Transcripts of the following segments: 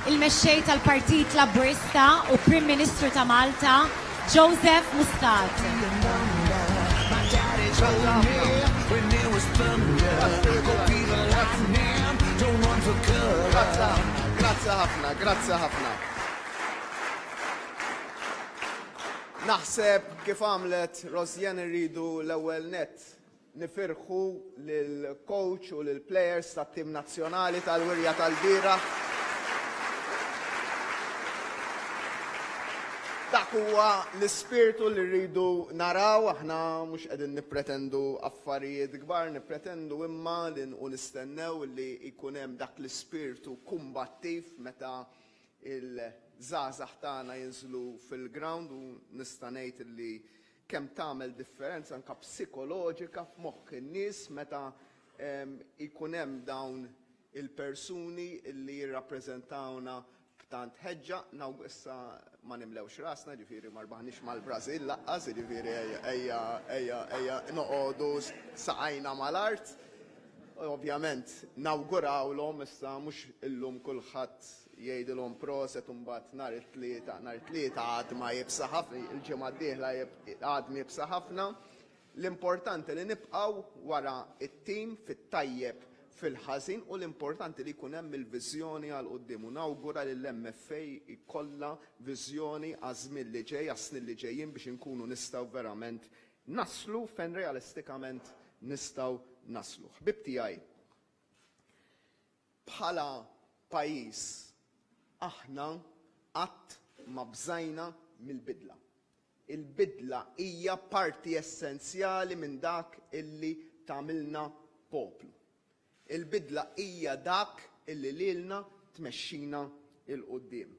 Il-Mexxej tal-Partit Laburista u Prim Ministru ta' Malta, Joseph Muscat. Grazzi ħafna, grazzi ħafna. Naħseb kif għamlet Rosianne irridu l-ewwel nett Nifirħu lill-coach u lill-players tat-tim nazzjonali tal-wirja tal-bieraħ. Dak huwa l-ispirtu li rridu naraw, aħna mhux qegħdin nippretendu affarijiet kbar, nippretendu imma li u nistennew li jkun hemm dak l-ispirtu kumbattiv meta il-żgħażagħ tagħna jinżlu fil-ground u nista' ngħid li kemm tagħmel differenza anke psikoloġika f'moħħ in-nies meta jkun hemm dawn il-persuni li jirrappreżentawna b'tant ħeġġa. Naw issa ma nimlewx rasna, ġifieri ma rbaħniex mal-Brażil laqqas, ġifieri ejja ejja ejja noqogħdu saqajna mal-art. Ovvjament nawgurawlhom issa mhux illum kulħadd jgħidilhom proset u mbagħad nhar it-Tlieta, nhar it-Tlieta għadma iebsa ħafna, il-ġimgħa d-dieħla għadma iebsa ħafna. L-importanti li nibqgħu wara t-tim fit-tajjeb fil-ħażin u l-importanti li jkun hemm il-viżjoni għal quddiem u nawgura li l-MFA jkollha viżjoni għaż-żmien li ġej, għas-snin li ġejjin biex inkunu nistgħu verament naslu fejn realistikament nistgħu naslu. Ħbieb tiegħi, bħala pajjiż aħna qatt ma bżajna mill-bidla. Il-bidla hija parti essenzjali minn dak illi tagħmilna poplu. Il-bidla hija dak illi lilna tmexxina 'l quddiem.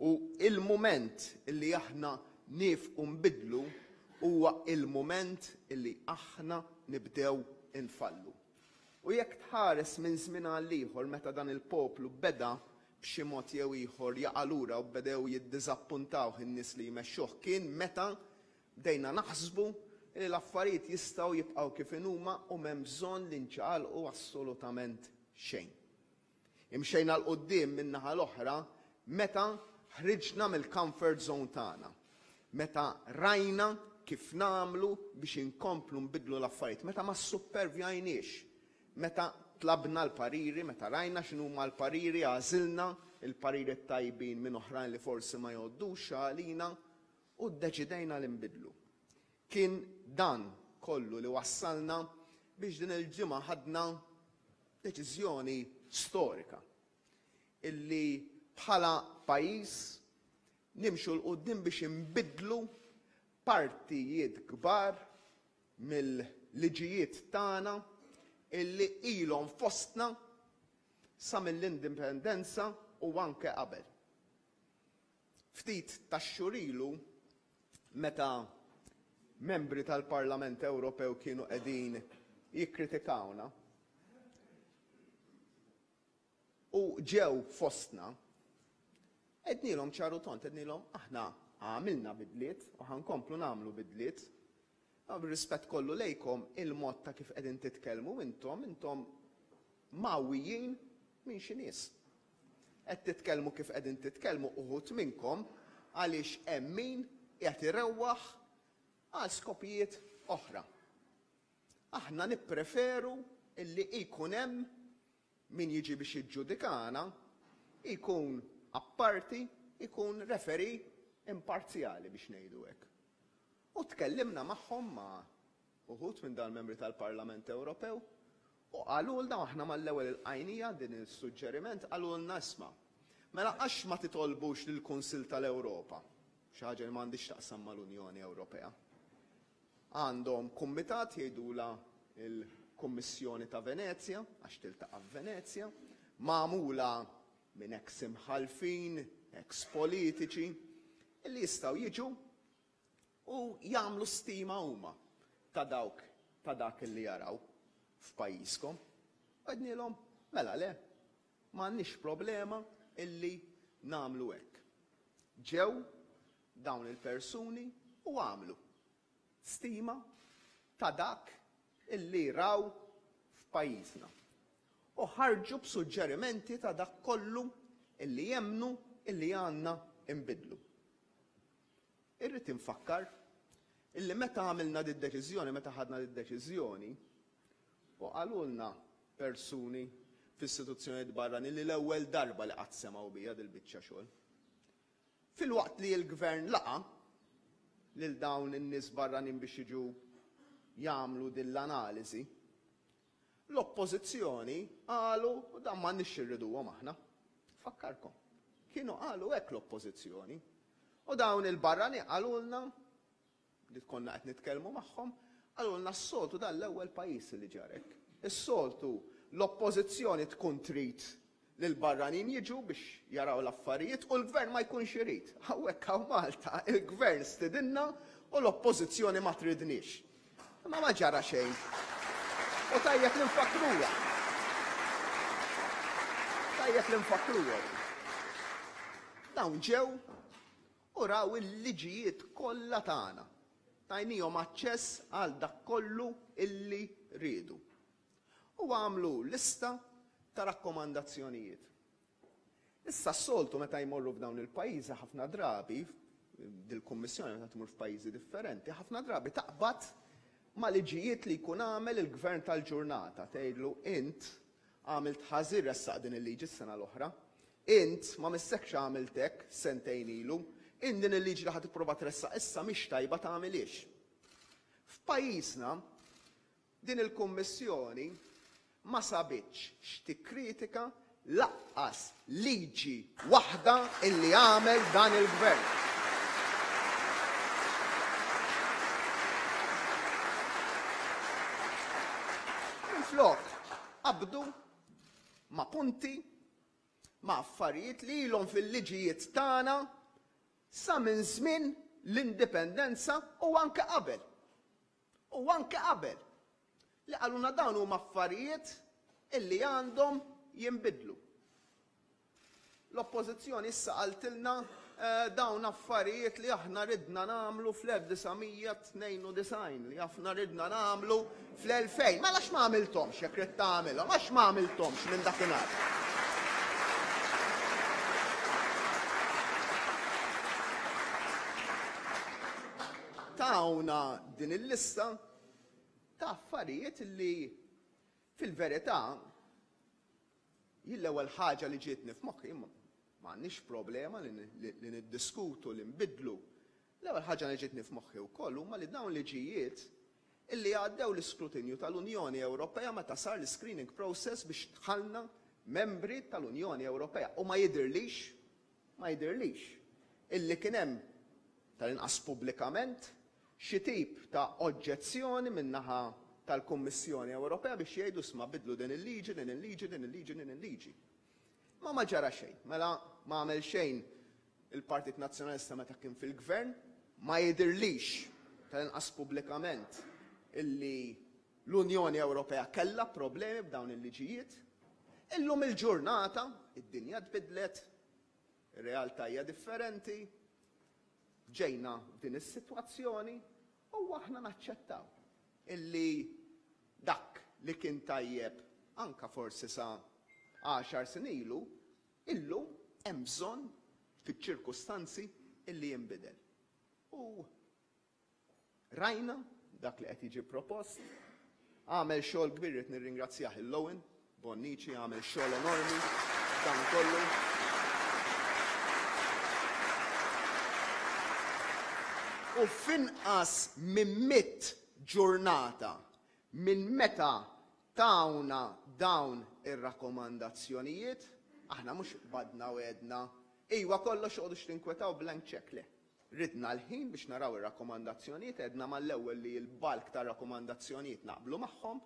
U il-mument illi aħna niefqu nbiddlu huwa il-mument illi aħna nibdew infallu. U jekk tħares minn żmien għal ieħor meta dan il-poplu beda b'xi mod jew ieħor jaqa' lura u bedew jiddiżappuntawh in-nies li jmexxuh kien meta Bdejna naħsbu li l-affarijiet jistgħu jibqgħu kif inhuma u m'hemm bżonn li nċaqalqu assolutament xejn. Imxejna 'l quddiem min-naħa l-oħra meta ħriġna mill-comfort zone tagħna, meta rajna kif nagħmlu biex inkomplu nbiddlu l-affarijiet, meta ma ssuppervjajniex, meta tlabna l-pariri, meta rajna x'inhuma l-pariri, għażilna l-pariri t-tajbin minn oħrajn li forsi ma jgħoddux għalina U ddeċidejna li nbiddlu. Kien dan kollu li wassalna biex din il-ġimgħa ħadna deċiżjoni storika illi bħala pajjiż nimxu 'l quddiem biex inbiddlu partijiet kbar mill-liġijiet tagħna illi ilhom fostna sa mill-Indipendenza u anke qabel. Ftit tax-xhur ilu, meta membri tal-Parlament Ewropew kienu qegħdin jikkritikawna u ġew fostna, għednielhom ċar u tond, għednielhom aħna għamilna bidliet u ħa nkomplu nagħmlu bidliet. Ma bir-rispett kollu lejkom, il-mod ta' kif qegħdin titkellmu intom, intom mgħawwijin minn xi nies. Qed titkellmu kif qegħdin titkellmu uħud minnkom għaliex hemm min qiegħed irewwaħ għal skopijiet oħra. Aħna nippreferu illi jkun hemm min jiġi biex jiġġudikana jkun apparti, jkun referee imparzjali biex ngħidu hekk. U tkellimna magħhom ma' uħud minn dal-membri tal-Parlament Ewropew u qalulna u aħna mal-ewwel ilqajnija din is-suġġeriment qalulna isma' mela għax ma titolbux lill-Kunsill tal-Ewropa, xi ħaġa li m'għandhiex x'taqsam mal-Unjoni Ewropea. Għandhom kumitat jgħidulha l-Kummissjoni ta' Venezja, għax tiltaqa' f'Venezja, magħmula minn eks imħallfin, eks politiċi, li jistgħu jiġu u jagħmlu stima huma ta' dawk ta' dak li jaraw f'pajjiżkom. U għednielhom, mela le, m'għandniex problema illi nagħmlu hekk. Ġew dawn il-persuni u għamlu stima ta' dak illi raw f'pajjiżna. U ħarġu b'suġġerimenti ta' dak kollu illi jemmnu illi għandna nbiddlu. Irrid infakkar illi meta għamilna did-deċiżjoni, meta ħadna did-deċiżjoni, u qalulna persuni f'istituzzjonijiet barranin li l-ewwel darba li qatt semgħu bija dil-biċċa xogħol. Filwaqt li l-Gvern laqa' lil dawn in-nies barranin biex jiġu jagħmlu din l-analiżi, l-Oppożizzjoni qalu dan m'għandniex xi rriduhom aħna. Nfakkarkom, kienu qalu hekk l-Oppożizzjoni. U dawn il-barranin qalulna li konna qed nitkellmu magħhom, qalulna s-soltu dan l-ewwel pajjiż li ġara hekk. Is-soltu l-Oppożizzjoni tkun trid li l-barranin jiġu biex jaraw l-affarijiet u l-Gvern ma jkunx irid. Hawnhekk hawn Malta il-Gvern stidinna u l-Oppożizzjoni ma tridniex. Imma ma ġara xejn. U tajjeb li nfakkruha. Tajjeb li nfakkruha. Dawn ġew u raw il-liġijiet kollha tagħna. Tajnihom aċċess għal dak kollu illi riedu. U għamlu lista ta' rakkomandazzjonijiet. Issa s-soltu meta jmorru f'dawn il-pajjiżi ħafna drabi, dil-kummissjoni meta tmur f'pajjiżi differenti, ħafna drabi taqbad ma' liġijiet li jkun għamel il-gvern tal-ġurnata, tgħidlu int għamilt ħażin ressaq din il-liġi s-sena l-oħra, int ma missekx għamilt hekk sentejn ilu, int din il-liġi li ħa tipprova tressaq issa mhix tajba tagħmilhiex. F'pajjiżna Din il-Kummissjoni ma sabitx x'tikkritika laqqas liġi waħda illi għamel dan il-Gvern. Minflok qabdu ma' punti, ma' affarijiet li ilhom fil-liġijiet tagħna sa minn żmien l-Indipendenza u anke qabel. U anke qabel, li qalulna dawn huma affarijiet illi għandhom jinbidlu. L-Oppożizzjoni issa qaltilna dawn affarijiet li aħna ridna nagħmlu fl-1992, li aħna ridna nagħmlu fl-2000. Mela għax ma għamilthomx jekk ridt tagħmilhom, għax ma għamilthomx minn dakinhar? Tawna din il-lista ta' affarijiet li fil-verità jien l-ewwel ħaġa li ġietni f'moħħi ma għandniex problema li niddiskutu li nbiddlu. L-ewwel ħaġa li ġietni f'moħħi wkoll huma li dawn liġijiet illi għaddew l-iskrutinju tal-Unjoni Ewropea meta sar l-screening process biex dħalna membri tal-Unjoni Ewropea u ma jidhirlix Ma jidhirlix illi kien hemm, tal-inqas pubblikament, xi tip ta' oġġezzjoni min-naħa tal-Kummissjoni Ewropea biex jgħidu isma' biddlu din il-liġi, din il-liġi, din il-liġi, din il-liġi. Ma ma ġara xejn. Mela ma għamel xejn il-Partit Nazzjonalista meta kien fil-Gvern, ma jidhirlix, tal-inqas pubblikament, illi l-Unjoni Ewropea kellha problemi b'dawn il-liġijiet. Illum il-ġurnata, id-dinja tbiddlet, Ir-realtà hija differenti, ġejna f'din is-sitwazzjoni u aħna naċċettaw illi dak li kien tajjeb anka forsi sa għaxar snin ilu, illum hemm bżonn fiċ-ċirkustanzi illi jinbidel. U Rajna dak li qed jiġi propost. Għamel xogħol kbir rrid nirringrazzjah il-Owen Bonnici għamel xogħol enormi dan kollu. U f'inqas minn mitt ġurnata minn meta tawna dawn ir-rakkomandazzjonijiet, aħna mhux qbadna u għedna, iwa kollox oqgħodux tinkwetaw blank check, le. Ridna l-ħin biex naraw ir-rakkomandazzjonijiet, għedna mal-ewwel li l-bulk tar-rakkomandazzjonijiet naqblu magħhom.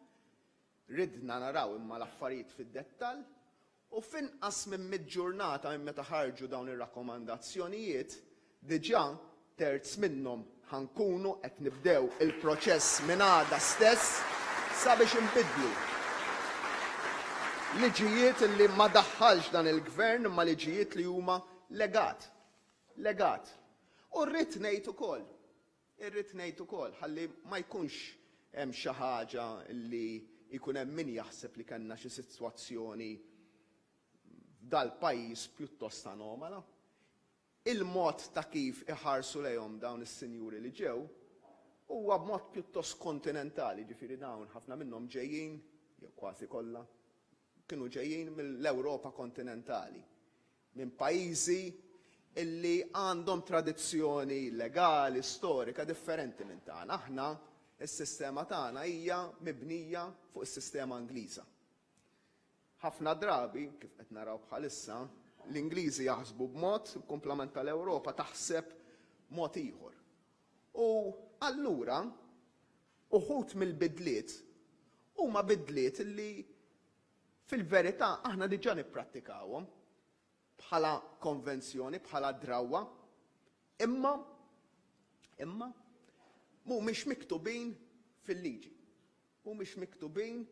Ridna naraw imma l-affarijiet fid-dettall u f'inqas minn mitt ġurnata minn meta ħarġu dawn ir-rakkomandazzjonijiet, diġà terz minnhom ħa nkunu qed nibdew il-proċess minn għada stess sabiex inbiddlu liġijiet li ma daħħalx dan il-Gvern imma liġijiet li huma legat. Legat. U rrid ngħid ukoll, irrid ngħid ukoll, ħalli ma jkunx hemm xi ħaġa li jkun hemm min jaħseb li kellna xi sitwazzjoni dal-pajjiż pjuttost anomala. Il-mod ta' kif iħarsu lejhom dawn is-sinjuri li ġew huwa b'mod pjuttost kontinentali, jiġifieri dawn ħafna minnhom ġejjin, jew kważi kollha, kienu ġejjin mill-Ewropa kontinentali, minn pajjiżi illi għandhom tradizzjoni legali, storika differenti minn tagħna. Aħna s-sistema tagħna hija mibnija fuq is-sistema Ingliża. Ħafna drabi, kif qed naraw bħalissa, l-Ingliżi jaħsbu b'mod, il-kumplament tal-Ewropa taħseb mod ieħor. U allura uħud mill-bidliet huma bidliet li fil-verità aħna diġà nipprattikawhom bħala konvenzjoni, bħala drawwa, imma imma mhumiex miktubin fil-liġi. Mhumiex miktubin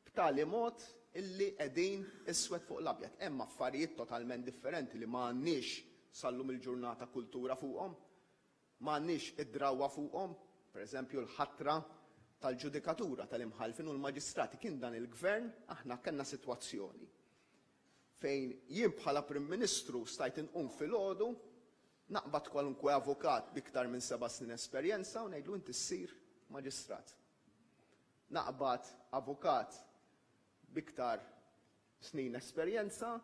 b'tali mod illi qegħdin iswed fuq l-abjad. Hemm affarijiet totalment differenti li ma għandniex sal-lum il-ġurnata kultura fuqhom, ma għandniex id-drawwa fuqhom, pereżempju l-ħatra tal-ġudikatura tal-imħallfin u l-maġistrati. Kien dan il-gvern aħna kellna sitwazzjoni fejn jien bħala Prim Ministru stajt inqum filgħodu naqbad kwalunkwe avukat b'iktar minn seba' snin esperjenza u ngħidlu inti ssir maġistrat. Naqbad avukat b'iktar snin esperjenza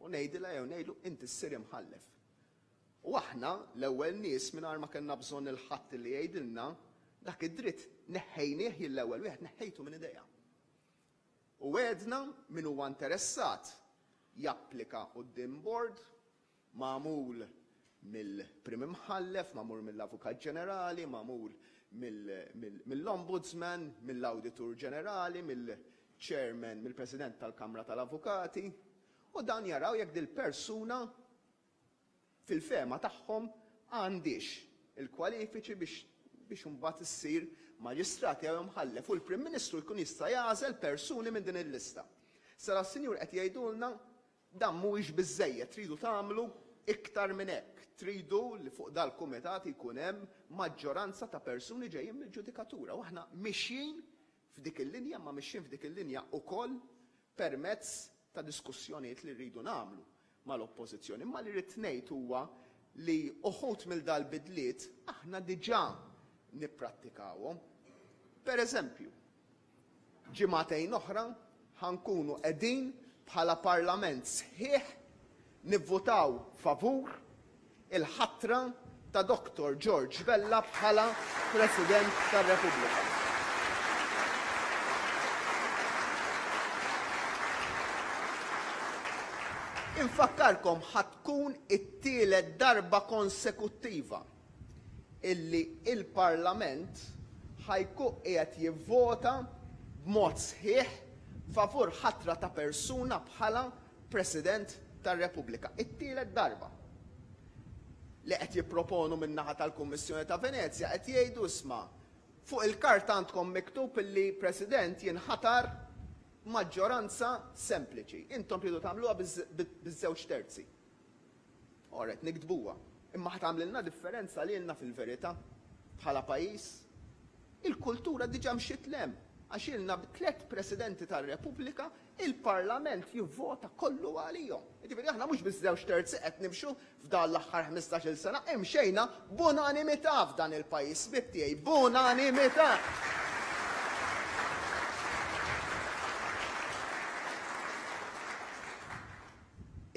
u ngħidilha jew ngħidlu inti ssir imħallef. U aħna l-ewwel nies mingħajr ma kellna bżonn il-ħadd li jgħidilna dak id-dritt neħħejnieh jien l-ewwel wieħed neħħejtu minn idejja. U għedna min huwa interessat japplika quddiem board magħmul mill-Prim Imħallef, magħmul mill-Avukat Ġenerali, magħmul mill-Ombudsman, mill-Awditur Ġenerali, mill-Chairman, mill-President tal-Kamra tal-Avukati, u dan jaraw jekk dil-persuna fil-fehma tagħhom għandhiex il-kwalifiċi biex biex imbagħad issir maġistrat jew imħallef u l-Prim Ministru jkun jista' jagħżel persuni minn din il-lista. Sara s-Sinjur qed jgħidulna Dan mhuwiex biżżejjed, tridu tagħmlu iktar minn hekk. Tridu li fuq dal-kumitat jkun hemm maġġoranza ta' persuni ġejjin mill-ġudikatura u aħna mixjin f'dik il-linja, imma mixjin f'dik il-linja wkoll permezz ta' diskussjonijiet li rridu nagħmlu mal-Oppożizzjoni. Imma li rrid ngħid huwa li uħud mill dal-bidliet aħna diġà nipprattikawhom. Per eżempju, Ġimagħtejn oħra ħa nkunu qegħdin bħala Parlament sħiħ nivvutaw favur il-ħatra ta' Dottor George Vella bħala President tar-Repubblika. Infakkarkom ħa tkun it-tielet darba konsekuttiva illi il-Parlament ħa jkun qiegħed jivvota b'mod sħiħ favur ħatra ta' persuna bħala President tar-Repubblika. It-tielet darba. Li qed jipproponu min-naħa tal-Kummissjoni ta' Venezja qed jgħidu isma' fuq il-karta għandkom miktub illi President jinħatar b'maġġoranza sempliċi. Intom tridu tagħmluha biż-żewġ terzi. Ora qed niktbuha. Imma ħa tagħmlilna differenza lilna fil-verità bħala pajjiż? Il-kultura diġà mxiet 'l hemm għax ilna b'tliet Presidenti tar-Repubblika il-Parlament jivvota kollu għalihom. Jiġifieri aħna mhux biż-żewġ terzi qed nimxu f'dan l-aħħar ħmistax-il sena, imxejna b'unanimità f'dan il-pajjiż, ħbieb tiegħi, b'unanimità!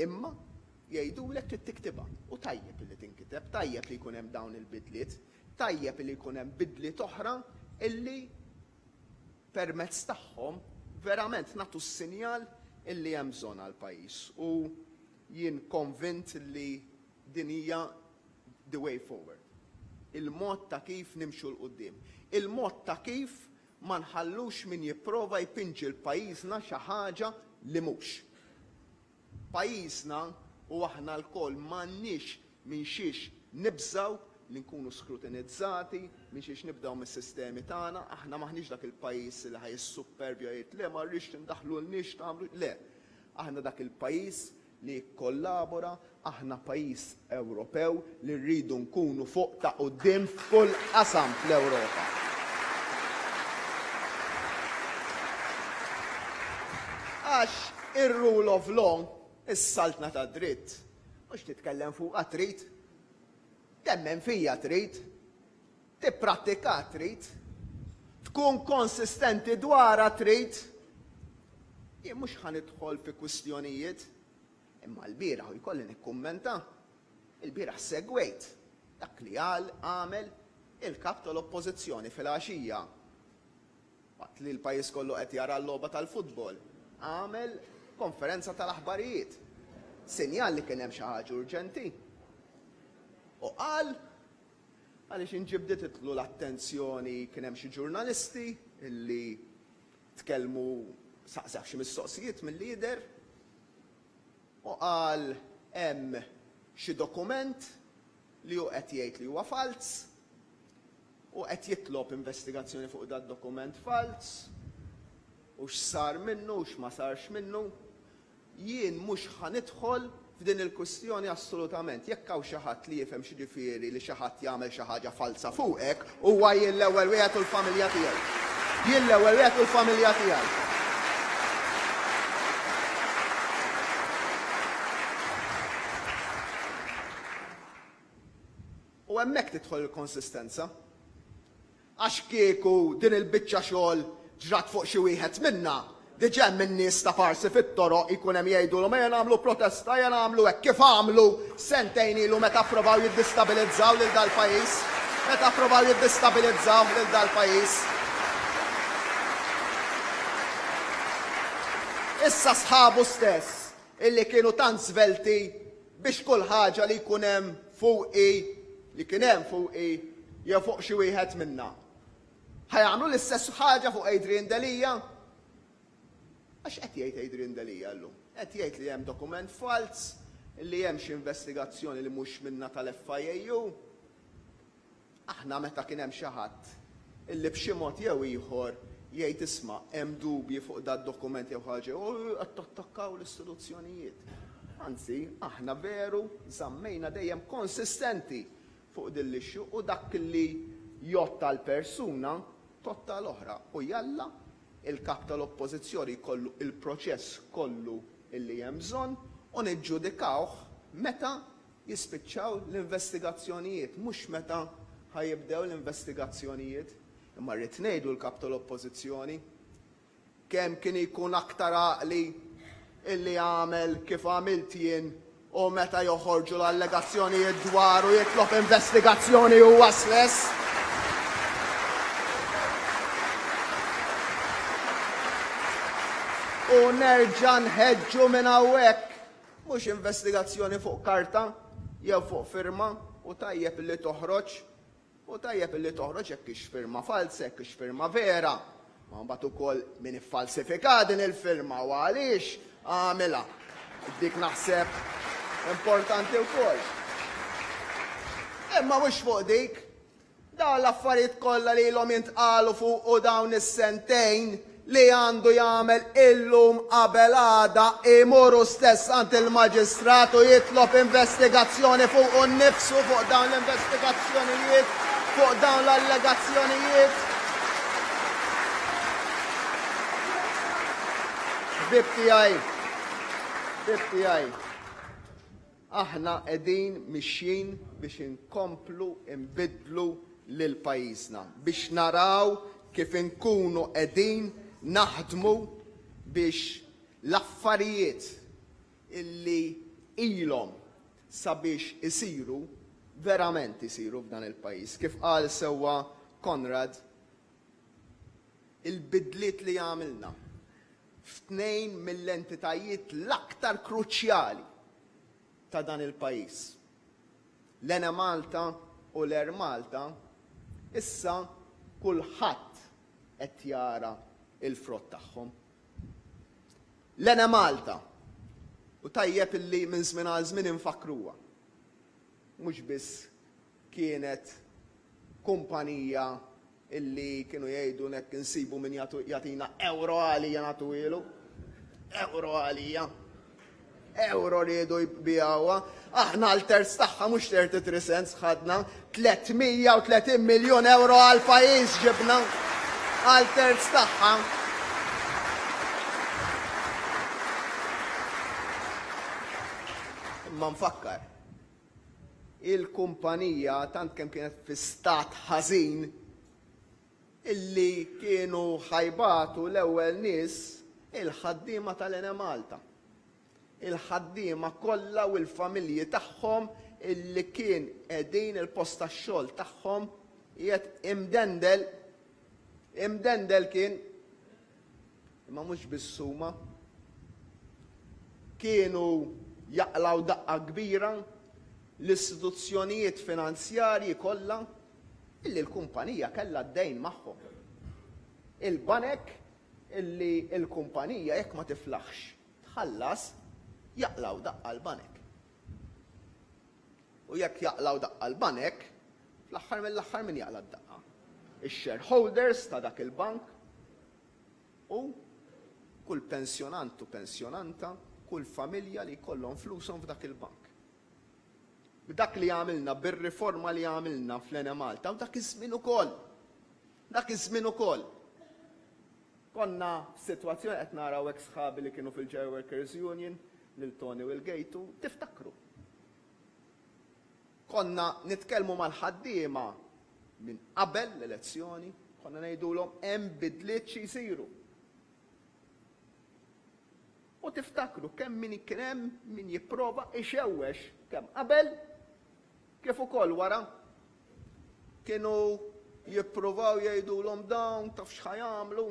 Imma jgħidulek trid tiktibha. U tajjeb illi tinkiteb, tajjeb li jkun hemm dawn il-bidliet, tajjeb illi jkun hemm bidliet oħra illi permezz tagħhom verament nagħtu s-sinjal illi hemm bżonn għall-pajjiż. U jien konvint li din hija the way forward. Il-mod ta' kif nimxu 'l quddiem. Il-mod ta' kif ma nħallux min jipprova jpinġi 'l pajjiżna xi ħaġa li mhux. Pajjiżna u aħna lkoll m'għandniex minn xiex nibżgħu li nkunu skrutinizzati, minn xiex nibdew mis-sistemi tagħna, aħna m'aħniex dak il-pajjiż li ħa jissuppervja jgħid le ma rridx tindaħlulniex tagħmlu, le. Aħna dak il-pajjiż li jikkollabora, aħna pajjiż Ewropew li rridu nkunu fuq ta' quddiem f'kull qasam fl-Ewropa. Għax ir-rule of law. Is-saltna tad-dritt mhux titkellem fuqha trid, temmen fija trid, tipprattika trid, tkun konsistenti dwarha trid. Jien mhux ħa nidħol fi kwistjonijiet, imma lbieraħ u jkolli nikkummenta, ilbieraħ segwejt dak li qal għamel il-Kap tal-Oppożizzjoni filgħaxija. Waqt li l-pajjiż kollu qed jara l-logħba tal-futbol, għamel konferenza tal-aħbarijiet. Sinjal li kien hemm xi ħaġa urġenti. U qal għaliex inġibdititlu l-attenzjoni kien hemm xi ġurnalisti li tkellmu saqsew xi mistoqsijiet mill-lider u qal hemm xi dokument li hu qed jgħid li huwa falz u qed jitlob investigazzjoni fuq dad-dokument falz u x'sar minnu u x'ma sarx minnu. Jien mhux ħa nidħol f'din il-kwistjoni assolutament. Jekk hawn xi ħadd li jifhem x'jiġifieri li xi ħadd jagħmel xi ħaġa falza fuqek, huwa jien l-ewwel wieħed u l-familja tiegħi. Jien l-ewwel wieħed u l-familja tiegħi. U hemmhekk tidħol il-konsistenza. Għax kieku din il-biċċa xogħol ġrat fuq xi wieħed minna, diġà hemm in-nies ta' parsi fit-toroq jkun hemm jgħidulhom ejja nagħmlu protesta, ejja nagħmlu hekk kif għamlu sentejn ilu meta pprovaw jiddistabilizzaw lil dal-pajjiż. Meta pprovaw jiddistabilizzaw lil dal-pajjiż. Issa sħabu stess illi kienu tant żvelti biex kull ħaġa li jkun hemm fuqi, li kien hemm fuqi jew fuq xi wieħed minna. Ħa jagħmlu l-istess ħaġa fuq Adrian Delia? Għax qed jgħid Adrian Delia llum? Qed jgħid li hemm dokument falz, li hemm xi investigazzjoni li mhux minna tal-FIAU. Aħna meta kien hemm xi ħadd illi b'xi mod jew ieħor jgħid isma' hemm dubji fuq dad-dokument jew ħaġa, u qed tattakkaw l-istituzzjonijiet. Anzi, aħna veru żammejna dejjem konsistenti fuq din l-issue u dak li jgħodd għal persuna tgħodd għal oħra u jalla il-Kap tal-Oppożizzjoni jkollu il-proċess kollu illi hemm bżonn u niġġudikawh meta Jispiċċaw l-investigazzjonijiet, mhux meta ħa jibdew l-investigazzjonijiet. Imma rrid ngħidu l-Kap tal-Oppożizzjoni kemm kien ikun aktar għaqli illi għamel kif għamilt jien u meta joħorġu l-allegazzjonijiet dwaru jitlob investigazzjoni huwa stess. U nerġa' nħeġġu minn hawnhekk Mhux investigazzjoni fuq karta jew fuq firma u tajjeb li toħroġ u tajjeb li toħroġ jekk hix firma falza, jekk hix firma vera. Ma mbagħad ukoll min iffalsifika din il-firma u għaliex għamilha. Dik naħseb importanti wkoll. Imma mhux fuq dik. Dawn l-affarijiet kollha li ilhom jintqalu fuqu dawn is-sentejn li għandu jagħmel illum qabel għada imur hu stess għand il-Maġistrat u jitlob investigazzjoni fuqu nnifsu fuq dawn l-investigazzjonijiet, fuq dawn l-allegazzjonijiet. Ħbieb tiegħi, ħbieb tiegħi, Aħna qegħdin mixjin biex inkomplu nbiddlu lil pajjiżna, biex naraw kif inkunu qegħdin naħdmu biex l-affarijiet illi ilhom sabiex isiru, verament isiru f'dan il-pajjiż. Kif qal sewwa Konrad, il-bidliet li għamilna f'tnejn mill-entitajiet l-aktar kruċjali ta' dan il-pajjiż, l-Enemalta u l-Air Malta, issa kulħadd qed jara l-frott tagħhom. L-Enemalta, u tajjeb illi minn żmien għal żmien infakkruha, mhux biss kienet kumpanija illi kienu jgħidu nek insibu min jagħtina ewro għalija nagħtuhielu. Ewro għalija. Ewro riedu jbigħuha. Aħna għal terz tagħha mhux 33 cents ħadna 330 miljun ewro għal pajjiż ġibna għal terz tagħha. Imma nfakkar, il-kumpanija tant kemm kienet fi stat ħażin illi kienu ħa jbatu l-ewwel nies il-ħaddiema tal-Enemalta. Il-ħaddiema kollha u l-familji tagħhom illi kien qegħdin il-post tax-xogħol tagħhom qiegħed imdendel. Imdendel kien. Imma mhux biss huma. Kienu jaqlgħu daqqa kbira l-istituzzjonijiet finanzjarji kollha illi l-kumpanija kellha d-dejn magħhom. Il-banek illi l-kumpanija jekk ma tiflaħx tħallas jaqlgħu daqqa l-banek. U jekk jaqlgħu daqqa l-banek, fl-aħħar mill-aħħar min jaqla' d-daqqa? Ix-shareholders ta' dak il-bank u kull pensjonant u pensjonanta, kull familja li jkollhom flushom f'dak il-bank. B'dak li għamilna, bir-riforma li għamilna fl-Enemalta u dak iż-żmien ukoll. Dak iż-żmien ukoll. Konna f'sitwazzjoni qed naraw hekk sħabi li kienu fil-Ġew Workers Union lil Tony u l-Gejtu, tiftakru. Konna nitkellmu mal-ħaddiema minn qabel l-elezzjoni, konna ngħidulhom hemm bidliet xi jsiru. U tiftakru kemm min kien hemm min jipprova ixewwex kemm qabel kif ukoll wara. Kienu jippruvaw jgħidulhom dawn taf x'ħa jagħmlu,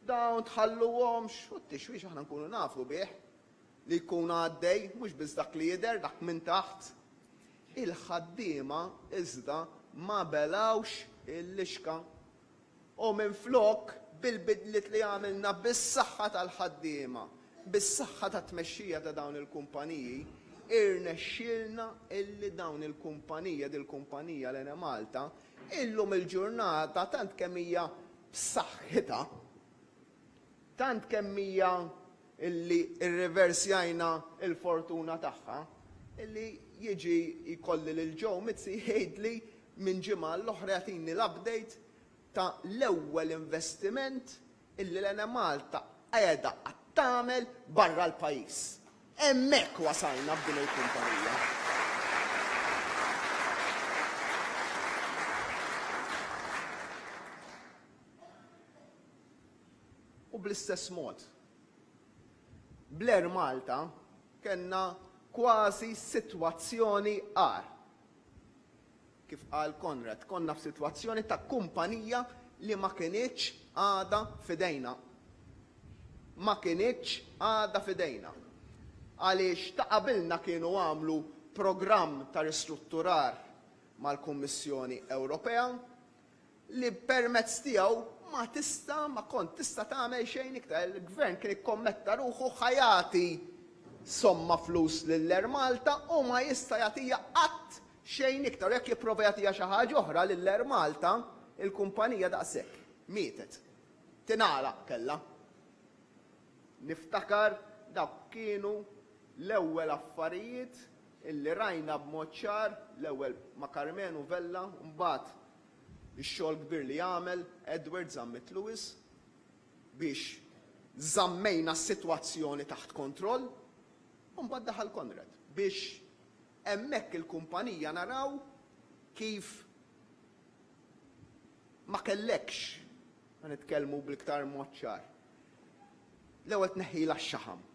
dawn tħalluhomx, u t-tixwix aħna nkunu nafu bih li jkun għaddej, mhux biss dak li jidher, dak minn taħt. Il-ħaddiema iżda ma belgħux il-lixka U minflok, bil-bidliet li għamilna bis-saħħa tal-ħaddiema, bis-saħħa tat-tmexxija ta' dawn il-kumpaniji, irnexxielna illi dawn il-kumpanija, dil-kumpanija l-Enemalta, illum il-ġurnata tant kemm hija b'saħħitha, tant kemm hija illi rriversjajna l-fortuna tagħha, illi jiġi jkolli lil Joe Mizzi jgħidli minn ġimgħa għall-oħra jagħtini l-update ta' l-ewwel investiment illi l-Enemalta qiegħda qed tagħmel barra l-pajjiż. Hemmhekk wasalna b'din il-kumpanija. U bl-istess mod, bl-Air Malta kellna kważi sitwazzjoni agħar. Kif qal Konrad, konna f'sitwazzjoni ta' kumpanija li ma kinitx għadha f'idejna. Ma kinitx għadha f'idejna. Għaliex ta' qabilna kienu għamlu programm ta' ristrutturar mal-Kummissjoni Ewropea li permezz tiegħu ma tista' ma kont tista' tagħmel xejn iktar. Il-Gvern kien ikkommetta ruħu ħa jagħti somma flus lil Air Malta u ma jista' jagħtiha qatt xejn iktar. U jekk jipprova jagħtiha xi ħaġa oħra lil Air Malta, il-kumpanija daqshekk. Mietet. Tingħalaq kellha. Niftakar dawk kienu l-ewwel affarijiet illi rajna b'mod ċar, l-ewwel ma' Karmenu Vella u mbagħad ix-xogħol kbir li għamel Edward Zammit Lewis biex żammejna s-sitwazzjoni taħt kontroll u mbagħad daħal Konrad biex hemmhekk il-kumpanija naraw kif ma kellekx, ħa nitkellmu bl-iktar mod ċar, l-ewwel tneħħilha x-xaħam.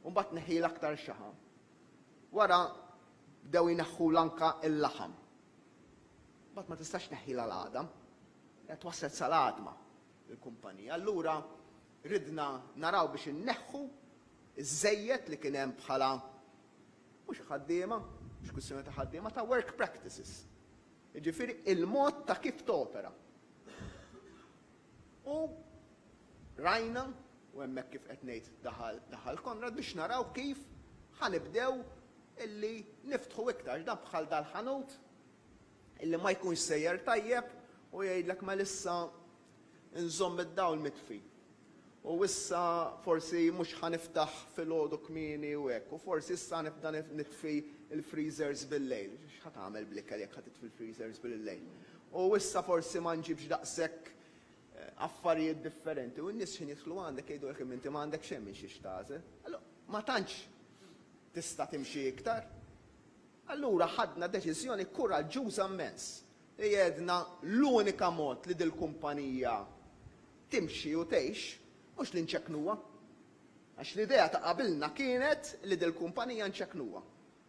U mbagħad tneħħilha aktar xaħam. Wara bdew jneħħulha anka l-laħam. Mbagħad ma tistax tneħħilha l-għadam. Qed waslet sal-għadma il-kumpanija. Allura ridna naraw biex inneħħu iż-żejjed li kien hemm bħala mhux ħaddiema, mhux kwistjoni ta' ħaddiema, ta' work practices. Jiġifieri il-mod ta' kif topera. U rajna, u hemmhekk kif qed ngħid daħal daħal Konrad biex naraw kif ħa nibdew illi niftħu iktar dan bħal dal-ħanut illi ma jkunx sejjer tajjeb u jgħidlek mela issa nżomm id-dawl mitfi. U issa forsi mhux ħa niftaħ filgħodu kmieni u hekk, u forsi issa nibda nitfi l-freezers bil-lejl. X'ħa tagħmel bl-ikel jekk ħa titfi l-freezers bil-lejl? U issa forsi ma nġibx daqshekk eh, affarijiet differenti. U n-nies x'ħin jidħlu għandek jgħidulek imma inti ma għandek xejn minn xiex tagħżel. Allura ma tantx. tista' timxi iktar. Allura ħadna deċiżjoni kuraġġuża mmens li għedna l-unika mod li dil-kumpanija timxi u tgħix mhux li nċekknuha. Għax l-idea ta' qabilna kienet li dil-kumpanija nċekknuha.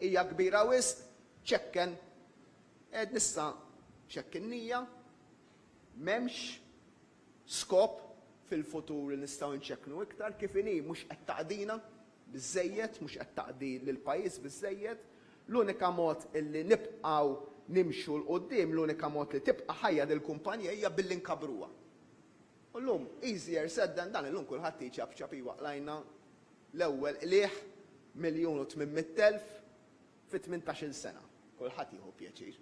Hija kbira wisq, ċekken. Għedna issa ċekkinnija, m'hemmx skop fil-futur li nistgħu nċekknu iktar, kif inhi mhux qed taqdina biżżejjed, mhux qed taqdi lill-pajjiż biżżejjed. L-unika mod illi nibqgħu nimxu 'l quddiem, l-unika mod li tibqa' ħajja dil-kumpanija hija billi nkabbruha. U llum easier said than done, illum kulħadd jċapċap iwa qlajna l-ewwel qligħ 1,800,000 fi 18-il sena. Kulħadd jieħu pjaċir.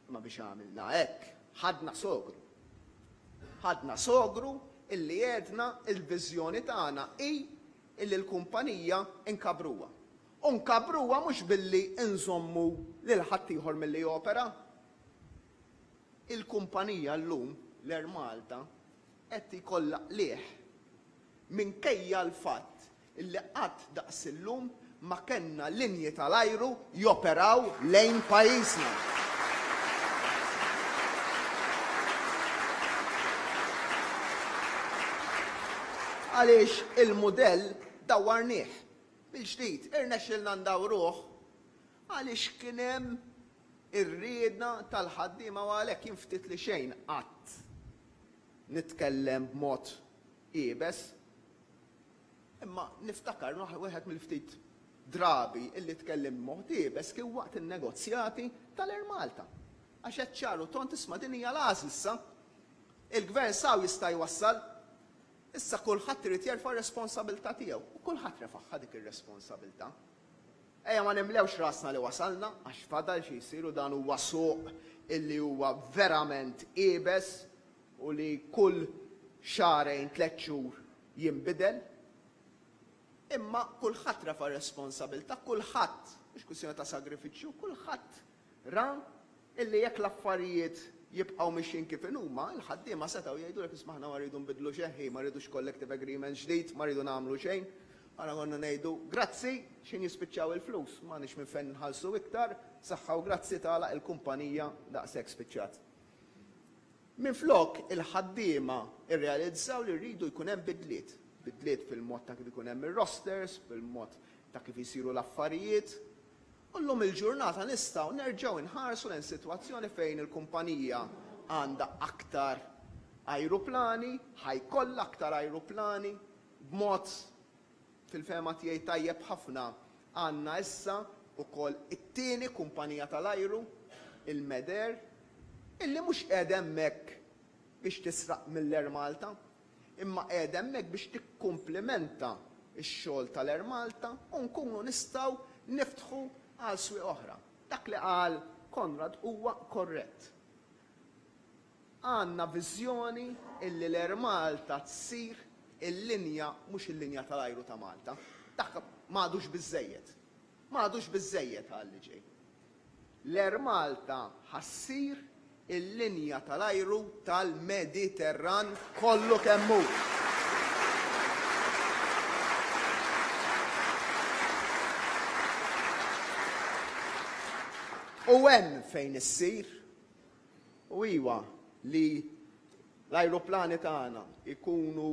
Imma biex għamilna hekk, ħadna sogru. Ħadna sogru illi għedna il-viżjoni tagħna hi illi l-kumpanija nkabbruha. U nkabbruha mhux billi nżommu lil ħaddieħor milli jopera. Il-kumpanija llum, l-Air Malta, qed jkollha qligħ minkejja l-fatt illi qatt daqs illum ma kellna linji tal-ajru joperaw lejn pajjiżna. Għaliex il-mudell dawwarnieh mill-ġdid, irnexxielna ndawruh għaliex kien hemm ir-rieda tal-ħaddiema u għalhekk jien ftit li xejn qatt nitkellem b'mod iebes. Imma niftakar wieħed mill-ftit drabi illi tkellimt b'mod iebes kien waqt in-negozjati tal-Air Malta. Għax għedt ċar u tond isma' din hija l-għażla issa. Il-Gvern s'hawn jista' jwassal. Issa kulħadd irid jerfa' r-responsabilità tiegħu. U kulħadd refagħha dik ir-responsabilità. Ejja ma nimlewx rasna li wasalna għax fadal xi jsir u dan huwa suq illi huwa verament iebes u li kull xahrejn, tlett xhur jinbidel. Imma kulħadd refa' r-responsabilità, kulħadd, mhux kwistjoni ta' sagrifiċċju, kulħadd ra illi jekk l-affarijiet jibqgħu mixjin kif inhuma, il-ħaddiema setgħu jgħidulek isma' aħna ma rridu nbiddlu xejn, ħi ma rridux collective agreement ġdid, ma rridu nagħmlu xejn. Aħna konna ngħidu grazzi x'ħin jispiċċaw il-flus, m'għandniex minn fejn nħallsu iktar, saħħa u grazzi tagħlaq il-kumpanija daqshekk spiċċat. Minflok, il-ħaddiema rrealizzaw li rridu jkun hemm bidliet. Bidliet fil-mod ta' kif ikun hemm ir-rosters, fil-mod ta' kif isiru l-affarijiet. U llum il-ġurnata nistgħu nerġgħu nħarsu lejn sitwazzjoni fejn il-kumpanija għandha aktar ajruplani, ħa jkollha aktar ajruplani, b'mod fil-fehma tiegħi tajjeb ħafna għandna issa wkoll it-tieni kumpanija tal-ajru, il-Medair, illi mhux qiegħda hemmhekk biex tisraq mill-Air Malta, imma qiegħda hemmhekk biex tikkumplimenta x-xogħol tal-Air Malta u nkunu nistgħu niftħu għal swieq oħra. Dak li qal Konrad huwa korrett. Għandna viżjoni illi l-Air Malta tsir il-linja mhux il-linja tal-ajru ta' Malta. Dak m'għadux biżżejjed. M'għadux biżżejjed għal li ġej. L-Air Malta ħa ssir il-linja tal-ajru tal-Mediterran kollu kemm hu. U hemm fejn issir U iwa, li l-ajruplani tagħna jkunu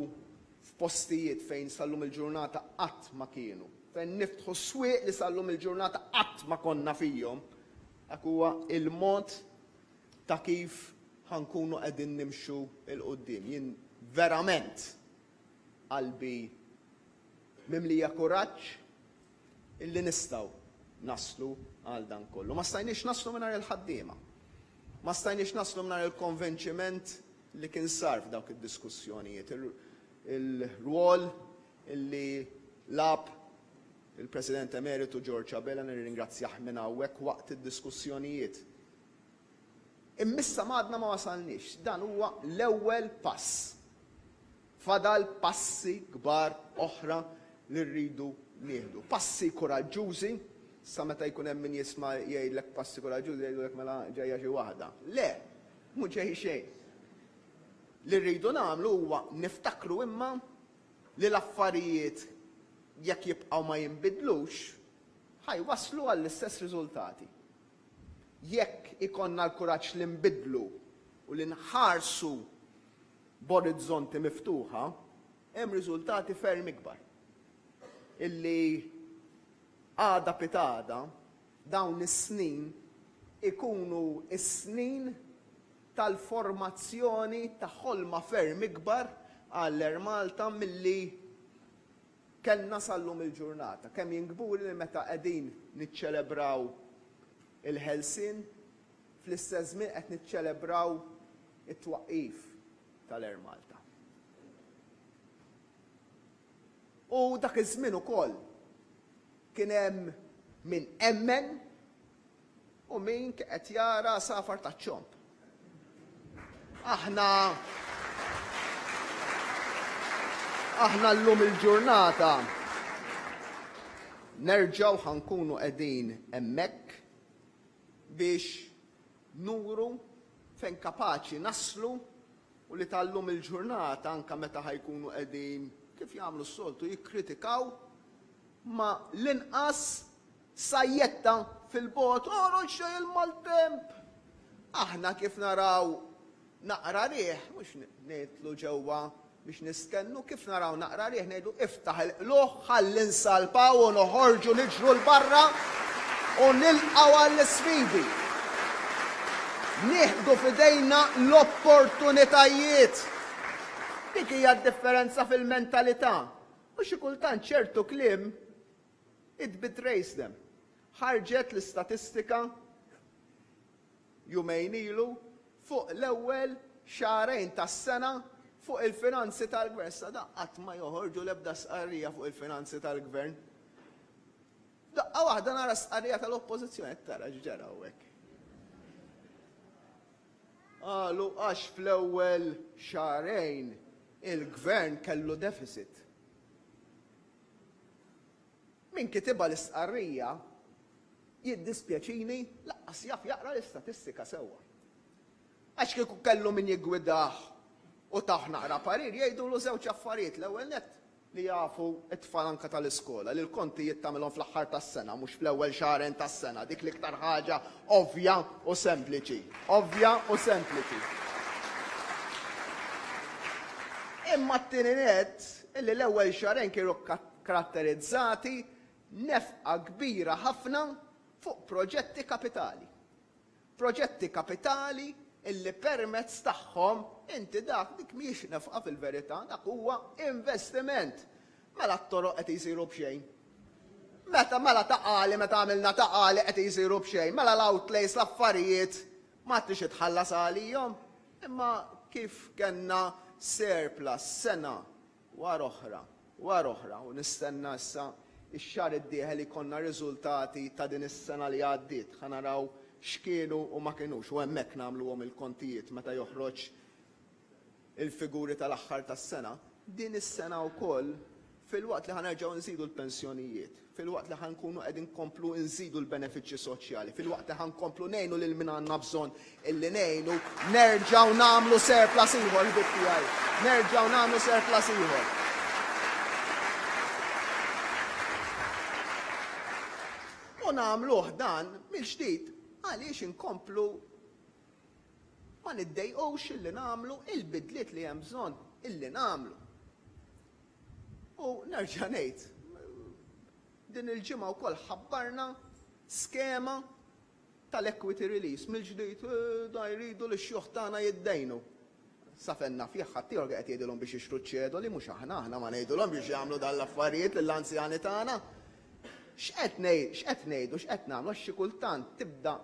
f'postijiet fejn sal-lum il-ġurnata qatt ma kienu, fejn niftħu swieq li sal-lum il-ġurnata qatt ma konna fihom, dak huwa il-mod ta' kif ħa nkunu qegħdin nimxu 'l quddiem. Jien verament qalbi mimlija kuraġġ illi nistgħu naslu għal dan kollu. Ma stajniex naslu mingħajr il-ħaddiema. Ma stajniex naslu mingħajr il-konvinċiment li kien sar f'dawk id-diskussjonijiet, il-rwol illi lagħab il-President Emeritu George Abela, nirringrazzjah minn hawnhekk waqt id-diskussjonijiet. Imma issa m'għadna ma wasalniex. Dan huwa l-ewwel pass. Fadal passi kbar oħra li rridu nieħdu. Passi kuraġġużi, sa meta jkun hemm min jisma' jgħidlek passi kuraġġużi jgħidulek mela ġejja xi waħda. Le, mhu ġej xejn. Li rridu nagħmlu huwa niftakru imma li l-affarijiet jekk jibqgħu ma jinbidlux. Ħa jwasslu għall-istess riżultati. Jekk ikollna l-kuraġġ li nbiddlu u li nħarsu b'orizzonti miftuħa, hemm riżultati ferm ikbar. Illi għada pitgħada dawn is-snin ikunu s-snin tal-formazzjoni ta' ħolma ferm ikbar għall-Air Malta milli kellna sal-lum il-ġurnata. Kemm jien kburi li meta qegħdin niċċelebraw il-ħelsien, fl-istess żmien qed niċċelebraw it-twaqqif tal-Air Malta. U dak iż-żmien ukoll kien hemm min emmen u min qed jara safar taċ-ċomb. Aħna aħna llum il-ġurnata nerġgħu ħa nkunu qegħdin hemmhekk biex nuru fejn kapaċi naslu u li tal-lum il-ġurnata anke meta ħa jkunu qegħdin kif jagħmlu s-soltu jikkritikaw ma l-inqas Sajjetta fil-bogħod, Oħroġ ġej il-maltemp! Aħna kif naraw naqra riħ, mhux nidħlu ġewwa biex nistennu, kif naraw naqra riħ ngħidu iftaħ il-qlugħ ħalli nsalpaw u noħorġu niġru 'l barra u nilqgħu għall-isfidi. Nieħdu f'idejna l-opportunitajiet. Dik hija d-differenza fil-mentalità. U xi kultant ċertu kliem It betrays them. Ħarġet l-istatistika jumejn ilu fuq l-ewwel xahrejn tas-sena fuq il-finanzi tal-gvern. Sa da qatt ma joħorġu l-ebda stqarrija fuq il-finanzi tal-gvern. Daqqa waħda nara stqarrija tal-oppożizzjoni, tara x'ġara hawnhekk. Qalu għax fl-ewwel xahrejn il-gvern kellu deficit. Min kitibha l-istqarrija, jiddispjaċini, lanqas jaf jaqra l-istatistika sewwa. Għax kieku kellu min jiggwidah u tah naqra parir jgħidulu żewġ affarijiet, l-ewwel nett li jafu t-tfal anke tal-iskola li l-kontijiet tagħmilhom fl-aħħar tas-sena mhux fl-ewwel xahrejn tas-sena, dik l-iktar ħaġa ovvja u sempliċi. Ovvja u sempliċi. Imma t-tieni nett illi l-ewwel xahrejn kienu karatterizzati nefqa kbira ħafna fuq proġetti kapitali. Proġetti kapitali illi permezz tagħhom inti dak dik mhijiex nefqa fil-verità, dak huwa investiment. Mela t-toroq qed jsiru b'xejn. Meta mela Ta' Qali meta għamilna Ta' Qali qed jsiru b'xejn, mela l-outlays l-affarijiet ma tridx itħallas għalihom. Imma kif kellna surplus sena wara oħra, wara oħra u nistenna issa x-xahar id-dieħel jkollna riżultati ta' din is-sena li għaddiet, ħa naraw x'kienu u ma kinux u hemmhekk nagħmluhom il-kontijiet meta joħroġ il-figuri tal-aħħar tas-sena, din is-sena wkoll filwaqt li ħa nerġgħu nżidu l-pensjonijiet, filwaqt li ħa nkunu qegħdin nkomplu nżidu l-benefiċċji soċjali, filwaqt li ħa nkomplu ngħinu lil min għandna bżonn illi ngħinu, nerġgħu nagħmlu surplus ieħor ħbieb tiegħi, nerġgħu nagħmlu surplus ieħor. U nagħmluh dan mill-ġdid għaliex inkomplu Ma niddejqux illi nagħmlu il-bidliet li hemm bżonn illi nagħmlu. U nerġa' ngħid, din il-ġimgħa wkoll ħabbarna skema tal-equity release mill-ġdid eh, da jridu li x-xjuħ tagħna jiddejnu. Sa fejn naf jekk ħaddieħor qed jgħidilhom biex jixtru ċ-ċedoli mhux aħna, aħna ma ngħidulhom biex jagħmlu dan l-affarijiet lill-anzjani tagħna. X'qed ngħidu, x'qed nagħmlu għax xi kultant tibda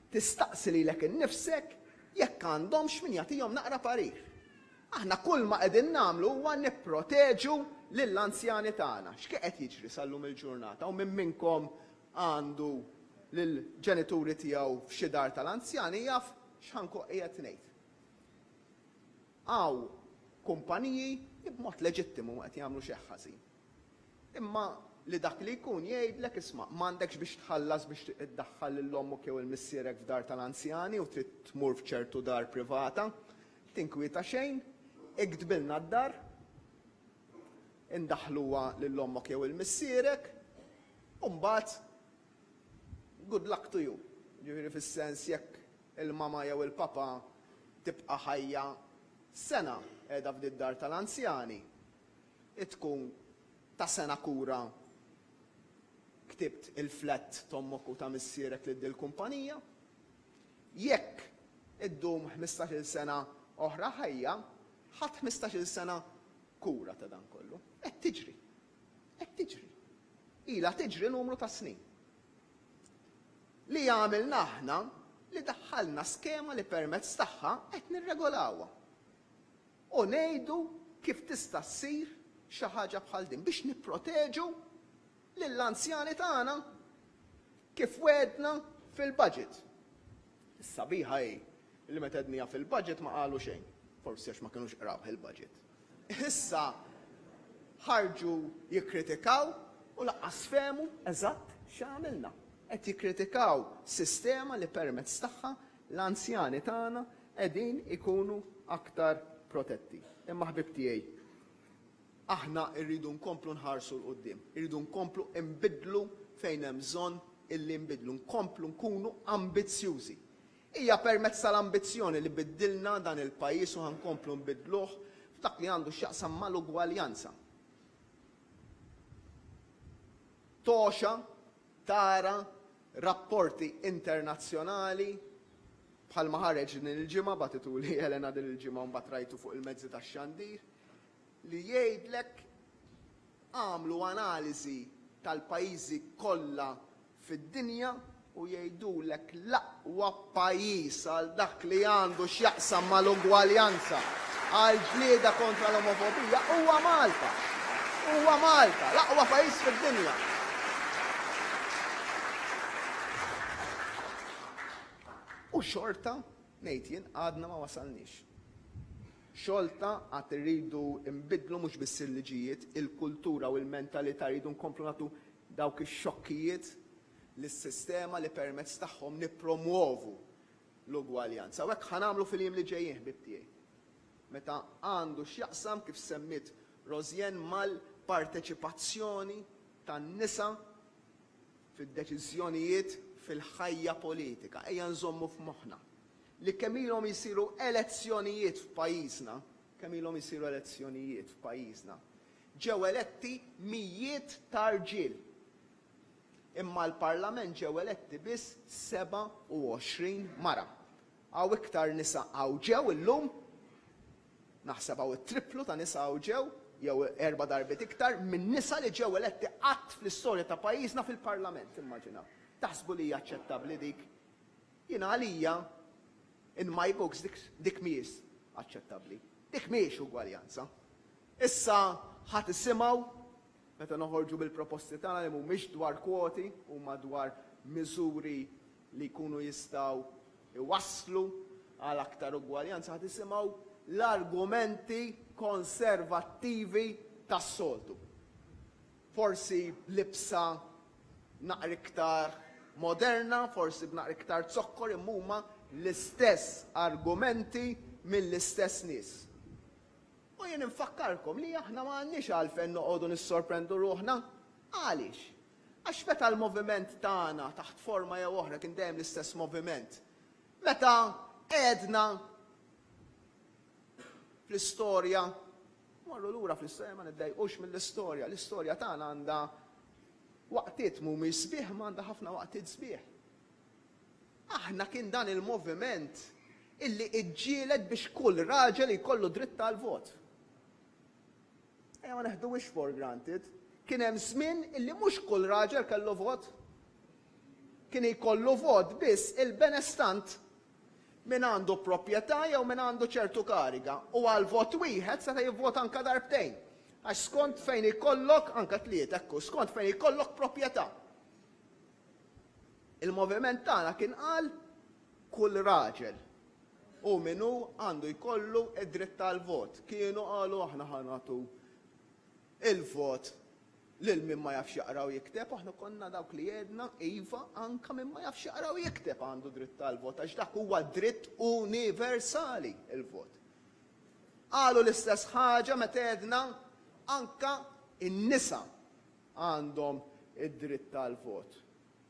Tistaqsi lilek innifsek jekk għandhomx min jagħtihom naqra parir. Aħna kulma qegħdin nagħmlu huwa nipproteġu lill-anzjani tagħna. X'kien qed jiġri sal-lum il-ġurnata u min minnkom għandu lill-ġenituri tiegħu f'xi dar tal-anzjani jaf x'ħa nkun qiegħed ngħid. Hawn kumpaniji li b'mod leġittimu ma qed jagħmlu xejn ħażin. Imma li dak li jkun jgħidlek isma' m'għandekx biex tħallas biex iddaħħal lil ommok jew il-missierek f'dar tal-anzjani u trid tmur f'ċertu dar privata, tinkwieta xejn, iktbilna d-dar, indaħħluha lil ommok jew il-missierek, u mbagħad. Good luck to you. Ġifieri fis-sens jekk il-mama jew il-papa tibqa' ħajja sena qiegħda f'did-dar tal-anzjani, tkun ta' sena kura ktibt il-flat t'ommok u ta' missierek lil dil-kumpanija. Jekk iddum 15-il sena oħra ħajja, ħadt 15-il sena kura ta' dan kollu. Qed tiġri. Qed tiġri. Ilha tiġri numru ta' snin. Li għamilna aħna li daħħalna skema li permezz tagħha qed nirregolawha. U ngħidu kif tista' ssir xi ħaġa bħal din biex nipproteġu lill-anzjani tagħna kif wegħdna fil-budget. Is-sabiħa hi li meta għedniha fil-budget ma qalu xejn, forsi għax ma kinux qrawh il-budget. Issa ħarġu jikkritikaw u lanqas fehmu eżatt x'għamilna. Qed jikkritikaw sistema li permezz tagħha l-anzjani tagħna qegħdin ikunu aktar protetti. Imma ħbieb tiegħi, aħna rridu nkomplu nħarsu 'l quddiem, irridu nkomplu nbiddlu fejn hemm bżonn illi nbiddlu, nkomplu nkunu ambizzjużi. Hija permezz tal-ambizzjoni li biddilna dan il-pajjiż u ħa nkomplu nbiddluh f'dak li għandu x'jaqsam mal-ugwaljanza. Togħxa tara rapporti internazzjonali bħalma ħareġ din il-ġimgħa, bagħtituli Elena din il-ġimgħa u mbagħad rajtu fuq il-mezzi tax-xandir, li jgħidlek għamlu analiżi tal-pajjiżi kollha fid-dinja u jgħidulek l-aqwa pajjiż għal dak li għandu x'jaqsam mal-ugwaljanza, għall-ġlieda kontra l-omofobija huwa Malta. Huwa Malta, l-aqwa pajjiż fid-dinja. U xorta, ngħid jien, għadna ma wasalniex. Xorta għad irridu nbiddlu mhux biss il-liġijiet, il-kultura u l-mentalità, rridu nkomplu nagħtu dawk ix-xokkijiet lis-sistema li permezz tagħhom nippromwovu l-ugwaljanza. U hekk ħa nagħmlu fil-jiem li ġejjin, ħbieb tiegħi. Meta għandu x'jaqsam, kif semmiet Rosianne, mal-parteċipazzjoni tan-nisa fid-deċiżjonijiet fil-ħajja politika. Ejja nżommu f'moħħna li kemm ilhom isiru elezzjonijiet f'pajjiżna, kemm ilhom isiru elezzjonijiet f'pajjiżna, ġew eletti mijiet ta' rġiel. Imma l-Parlament ġew eletti biss 27 mara. Hawn iktar nisa hawn ġew illum, naħseb hawn it-tripplu ta' nisa hawn ġew, jew erba' darbiet iktar, minn nisa li ġew eletti qatt fl-istorja ta' pajjiżna fil-Parlament, immaġinaw. Taħsbu li hija aċċettabbli dik? Jiena għalija, in my books, dik, dik mhijiex aċċettabbli. Dik mhijiex ugwaljanza. Issa ħa tisimgħu meta noħorġu bil-proposti tagħna li mhumiex dwar kwoti, huma dwar miżuri li jkunu jistgħu jwasslu għal aktar ugwaljanza, ħa tisimgħu l-argumenti konservattivi tas-soltu. Forsi b'libsa naqra iktar moderna, forsi b'naqra iktar zokkor, imma huma l-istess argumenti mill-istess nies. U jien infakkarkom li aħna ma għandniex għalfejn noqogħdu nissorprendu ruħna. Għaliex? Għax meta l-moviment tagħna taħt forma jew oħra kien dejjem l-istess moviment. Meta għedna fl-istorja, morru lura fl-istorja ma niddejqux mill-istorja, l-istorja tagħna għandha waqtiet mhumiex sbieħ ma għandha ħafna waqtiet sbieħ. Aħna kien dan il-moviment illi iġġieled biex kull raġel jkollu dritt tal-vot. Ejja ma neħduhiex for granted. Kien hemm żmien illi mhux kull raġel kellu vot. Kien jkollu vot biss il-benestant min għandu proprjetà jew min għandu ċertu kariga u għal vot wieħed seta' jivvota anka darbtejn. Għax skont fejn ikollok anka tliet, ekku, skont fejn ikollok proprjetà. Il-moviment tagħna kien qal kull raġel u min hu għandu jkollu id-dritt tal-vot. Kienu qalu aħna ħa nagħtu il-vot lil min ma jafx jaqra u jikteb, aħna konna dawk li għedna iva anka min ma jafx jaqra u jikteb għandu dritt tal-vot għax dak huwa dritt universali il-vot. Qalu l-istess ħaġa meta għedna anka in-nisa għandhom id-dritt tal-vot.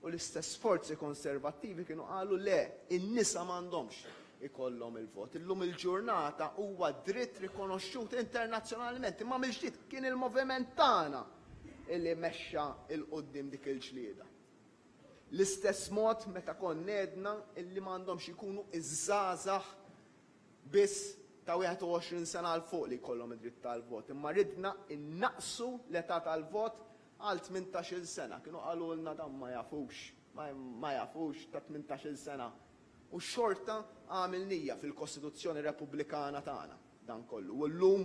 U l-istess forzi konservattivi kienu qalu le, in-nisa m'għandhomx ikollhom il-vot. Illum il-ġurnata huwa dritt rikonoxxut internazzjonalment, imma mill-ġdid kien il-moviment tagħna illi mexxa 'l quddiem dik il-ġlieda. L-istess mod meta konna għedna illi m'għandhomx ikunu iż-żgħażagħ biss ta' 21 sena 'l fuq li jkollhom id-dritt tal-vot, imma ridna nnaqqsu l-età tal-vot għal 18-il sena. Kienu qalulna dawn ma jafux, ma jafux ta' 18-il sena. U xorta għamilnija fil-Kostituzzjoni Repubblikana tagħna dan kollu. U llum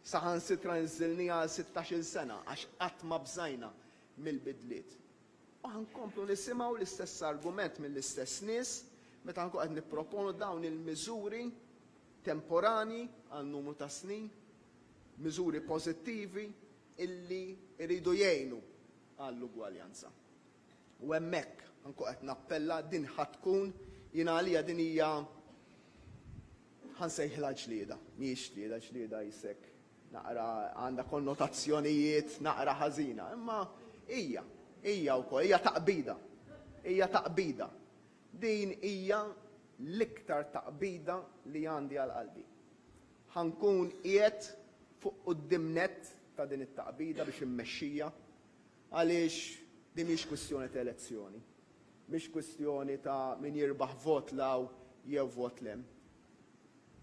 saħansitra niżżilniha għal 16-il sena għax qatt ma bżajna mill-bidliet. U ħa nkomplu nisimgħu l-istess argument mill-istess nies meta nkunu qed nipproponu dawn il-miżuri temporani għal numru ta' snin, miżuri pożittivi illi jridu jgħinu għall-ugwaljanza. U hemmhekk nkun qed nappella din ħa tkun jiena għalija din hija ħa nsejħilha ġlieda, mhijiex ġlieda, ġlieda jisek naqra għandha konnotazzjonijiet naqra ħażina, imma hija, hija wkoll, hija taqbida. Hija taqbida. Din hija l-iktar taqbida li għandi għal qalbi. Ħa nkun qiegħed fuq quddiem nett ta' din it-taqbida biex immexxija għaliex din mhix kwistjoni ta' elezzjoni. Mhix kwistjoni ta' min jirbaħ vot 'l hawn jew vot 'l hemm.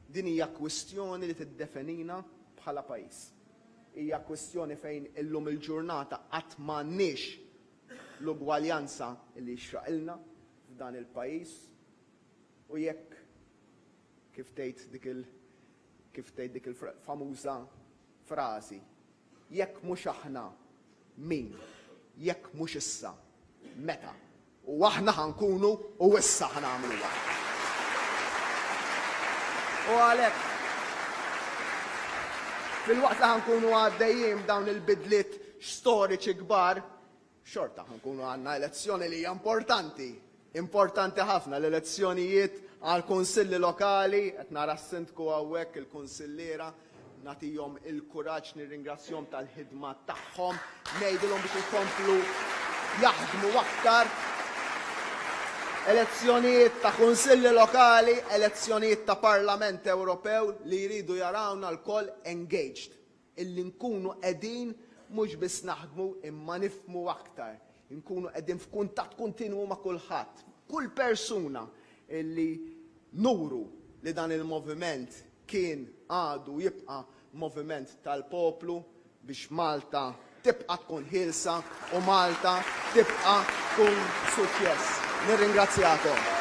Din hija kwistjoni li tiddefenina bħala pajjiż. Hija kwistjoni fejn illum il-ġurnata qatt m'għandniex l-ugwaljanza li jixraqilna f'dan il-pajjiż u jekk kif tgħid dik il kif tgħid dik il-famuża frażi jekk mhux aħna min, jekk mhux issa, meta? U aħna ħa nkunu u issa ħa nagħmluha. U għalhekk filwaqt li ħa nkunu għaddejjin dawn il-bidliet storiċi kbar, xorta ħa nkunu għandna elezzjoni li hija importanti, importanti ħafna l-elezzjonijiet għal kunsilli lokali, qed nara s-sindku hawnhekk il-kunsilliera, Nagħtihom il-kuraġġ, nirringrazzjahom tal-ħidma tagħhom, ngħidilhom biex ikomplu jaħdmu aktar. Elezzjonijiet ta' kunsilli lokali, elezzjonijiet ta' Parlament Ewropew li jridu jarawna lkoll engaged. Illi nkunu qegħdin mhux biss naħdmu imma nifhmu aktar. Inkunu qegħdin f'kuntatt kontinwu ma' kulħadd, kull persuna illi nuru li dan il-moviment kien, għadu u jibqa' moviment tal-poplu biex Malta tibqa' tkun ħielsa u Malta tibqa' tkun suċċess. Nirringrazzjakom.